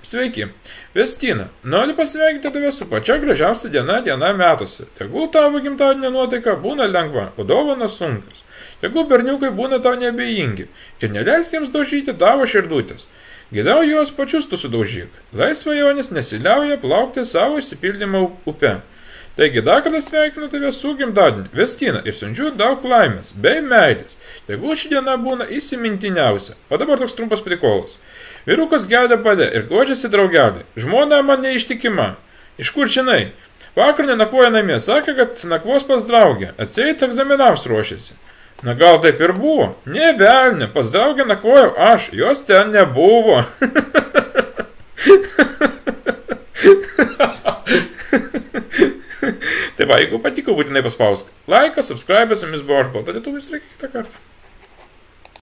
Sveiki, Vestina, noriu pasveikinti tave su pačia gražiausia diena metuose. Tegul tavo gimtadienio nuotaika būna lengva, o dovanos sunkios. Tegul berniukai būna tau neabejingi ir neleis jiems daužyti tavo širdutės. Geriau juos pačius tu sudaužyk. Lai svajonės nesiliauja plaukti savo išsipildymą upe. Taigi dar kartą sveikinu tave su gimtadieniu, Vestina, ir siunčiu daug laimės bei meilės. Tegul ši diena būna įsimintiniausia. O dabar toks trumpas prikolas. Vyrukas geria bade ir guodžiasi draugelį. Žmona man neištikima. Iš kur žinai? Vakar nenakvoja namie, sakė, kad nakvos pas draugę. Atseit egzaminams ruošiasi. Na gal taip ir buvo? Ne velnė, pas draugę nakvojau aš, jos ten nebuvo. Tai va, jeigu patiko, būtinai paspausk laiką, subscribe, su jumis buvo aš, Balta Lietuvis, reikia kitą kartą.